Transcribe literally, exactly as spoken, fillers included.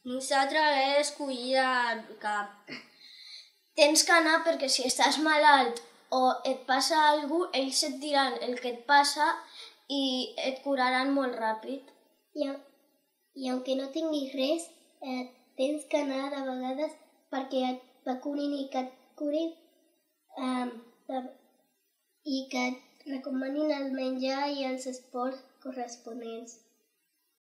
Nosaltres he escollit que tens que anar perquè si estàs malalt o et passa alguna cosa, ells et diran el que et passa i et curaran molt ràpid. I, i aunque no tinguis res, eh, tens que anar de vegades perquè et vacunin i que et curin eh, de, i que et recomanin el menjar i els esports corresponents.